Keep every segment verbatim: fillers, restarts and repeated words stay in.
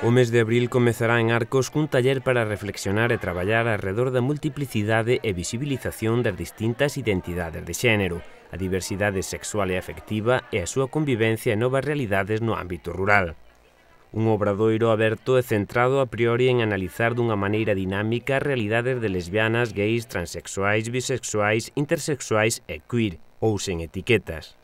O mes de abril comezará en Arcos cun taller para reflexionar e traballar arredor da multiplicidade e visibilización das distintas identidades de xénero, a diversidade sexual e afectiva e a súa convivencia en novas realidades no ámbito rural. Un obradoiro aberto e centrado a priori en analizar dunha maneira dinámica as realidades de lesbianas, gays, transexuais, bisexuais, intersexuais e queer, ou sen etiquetas.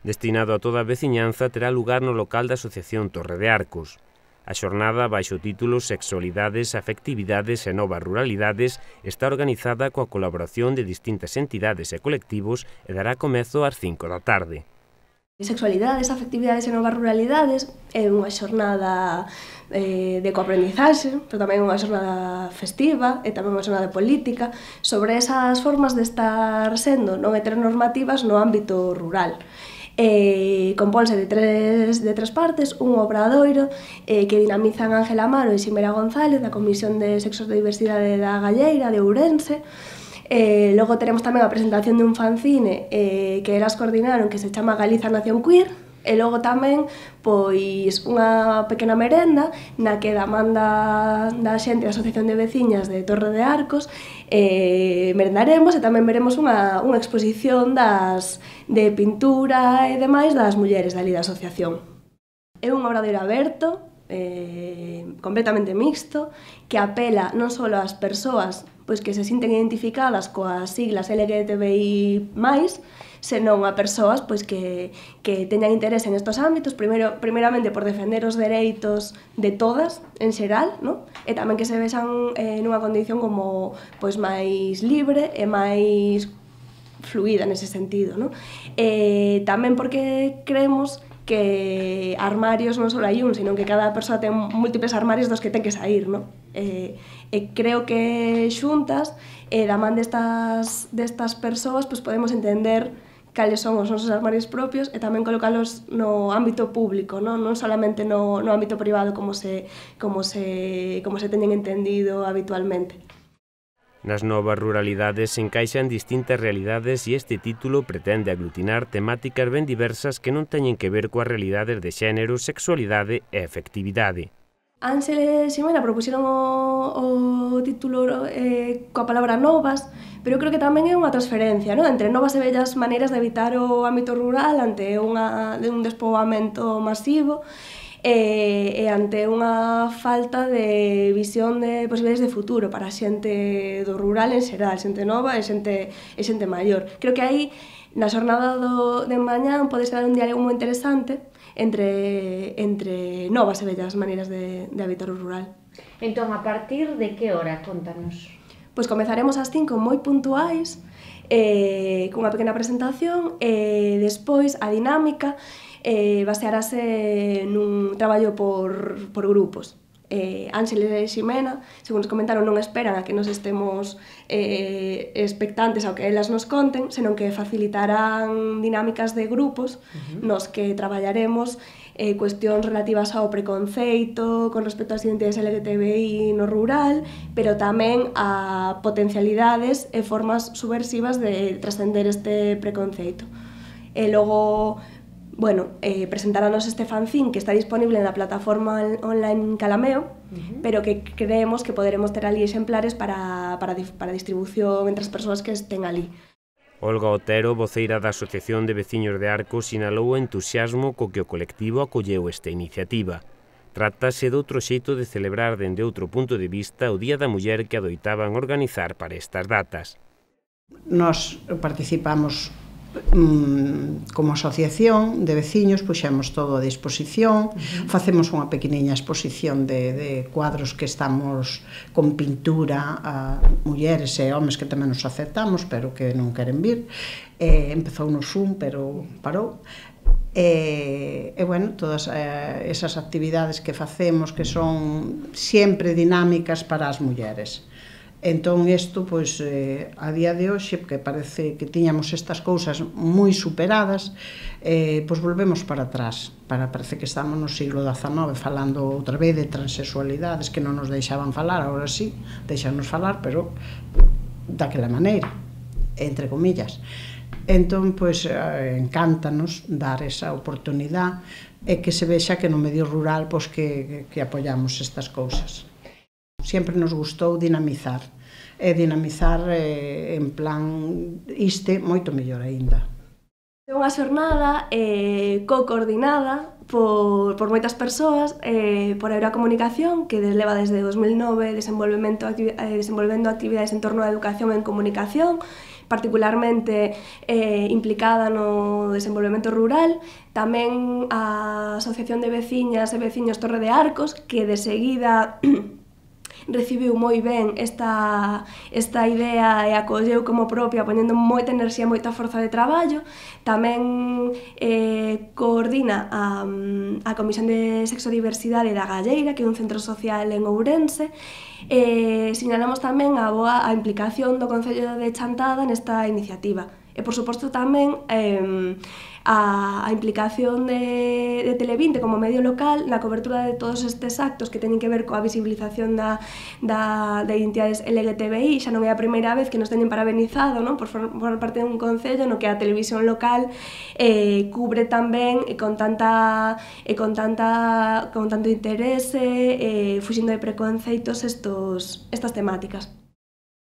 Destinado a toda a veciñanza, terá lugar no local da Asociación Torre de Arcos. A xornada, baixo o título Sexualidades, Afectividades e Novas Ruralidades, está organizada coa colaboración de distintas entidades e colectivos e dará comezo ás cinco da tarde. Sexualidades, afectividades e novas ruralidades é unha xornada eh, de coaprendizaxe, pero tamén unha xornada festiva e tamén unha xornada política sobre esas formas de estar sendo non heteronormativas no ámbito rural. Eh, compónse de tres, de tres partes, un obradoiro eh, que dinamizan Ángela Amaro e Ximena González da Comisión de Sexos de Diversidade da Galleira de Ourense. Eh, logo teremos tamén a presentación de un fanzine eh, que elas coordinaron que se chama Galiza Nación Queer. E logo tamén, pois, unha pequena merenda na que da man da, da xente da Asociación de Veciñas de Torre de Arcos eh, merendaremos e tamén veremos unha, unha exposición das, de pintura e demais das mulleres dali da asociación. É un obradoiro aberto, eh, completamente mixto, que apela non só ás persoas pois, que se sinten identificadas coas siglas L G T B I máis, senón a persoas pois, que, que teñan interés en estos ámbitos, primeiro, primeiramente por defender os dereitos de todas, en xeral, no? E tamén que se vexan eh, nunha condición como pois, máis libre e máis fluida nese sentido, no? E tamén porque creemos que armarios non só hai un, sino que cada persoa ten múltiples armarios dos que ten que sair, no? E, e creo que xuntas, e da man destas, destas persoas, pues podemos entender cales son os nosos armarios propios e tamén colocalos no ámbito público, no? Non solamente no, no ámbito privado como se, como, se, como se teñen entendido habitualmente. Nas novas ruralidades se encaixan distintas realidades e este título pretende aglutinar temáticas ben diversas que non teñen que ver coas realidades de xénero, sexualidade e afectividade. Ángel e Ximena propuxeron o, o título eh, coa palabra novas, pero eu creo que tamén é unha transferencia, no? Entre novas e vellas maneiras de evitar o ámbito rural ante unha, de un despoboamento masivo e, e ante unha falta de visión de posibilidades de futuro para a xente do rural en xeral, xente nova e xente, e xente maior. Creo que aí, na xornada do, de mañán, pode ser un diálogo moi interesante entre, entre novas e vellas maneiras de, de habitar o rural. Entón, a partir de que hora? Contanos. Pois comezaremos ás cinco moi puntuais, eh, cunha pequena presentación, e despois a dinámica eh, basearase nun traballo por, por grupos. Eh, Ángel e Ximena, según nos comentaron, non esperan a que nos estemos eh, expectantes ao que elas nos conten, senón que facilitarán dinámicas de grupos uh-huh. nos que traballaremos eh, cuestións relativas ao preconceito con respecto ás identidades L G T B I no rural, pero tamén a potencialidades e formas subversivas de trascender este preconceito. E logo, bueno, eh, presentarános este fanzine que está disponible na plataforma online Calameo, uh-huh. pero que creemos que poderemos ter ali exemplares para, para, para distribución entre as persoas que estén ali. Olga Otero, voceira da Asociación de Veciños de Arcos, sinalou o entusiasmo co que o colectivo acolleu esta iniciativa. Trátase de outro xeito de celebrar dende outro punto de vista o Día da Muller que adoitaban organizar para estas datas. Nos participamos como asociación de veciños, puxemos todo a disposición, uh-huh. facemos unha pequeniña exposición de, de cuadros que estamos con pintura a mulleres e homes que tamén nos aceptamos, pero que non queren vir. Eh, empezou no Zoom, pero parou. E, e bueno, todas eh, esas actividades que facemos que son sempre dinámicas para as mulleres. Entón, isto, pois, eh, a día de hoxe, porque parece que tiñamos estas cousas moi superadas, eh, pois volvemos para atrás. Para, parece que estamos no siglo dezanove falando outra vez de transexualidades que non nos deixaban falar, agora sí, deixanos falar, pero daquela maneira, entre comillas. Entón, pois, encántanos dar esa oportunidade e que se vexa que no medio rural pois, que, que apoiamos estas cousas. Sempre nos gustou dinamizar, e dinamizar eh, en plan iste moito mellor aínda. É unha xornada eh, co-coordinada por, por moitas persoas, eh, por Eurocomunicación, que leva desde dos mil nove desenvolvemento, activi eh, desenvolvendo actividades en torno á educación en comunicación, particularmente eh, implicada no desenvolvemento rural, tamén a Asociación de Veciñas e Veciños Torre de Arcos, que de seguida recibiu moi ben esta, esta idea e acolleu como propia, poñendo moita enerxía e moita forza de traballo. Tamén eh, coordina a, a Comisión de Sexodiversidade da Galleira, que é un centro social en Ourense. Eh, sinalamos tamén a boa a implicación do Concello de Chantada nesta iniciativa. E, por suposto, tamén eh, a, a implicación de, de Televinte como medio local na cobertura de todos estes actos que teñen que ver coa visibilización da, da, de identidades L G T B I. Xa non é a primeira vez que nos teñen parabenizado, non? Por formar parte dun concello no que a televisión local eh, cubre tamén e con tanta e con tanta con tanto interese, eh, fuxindo de preconceitos estos, estas temáticas.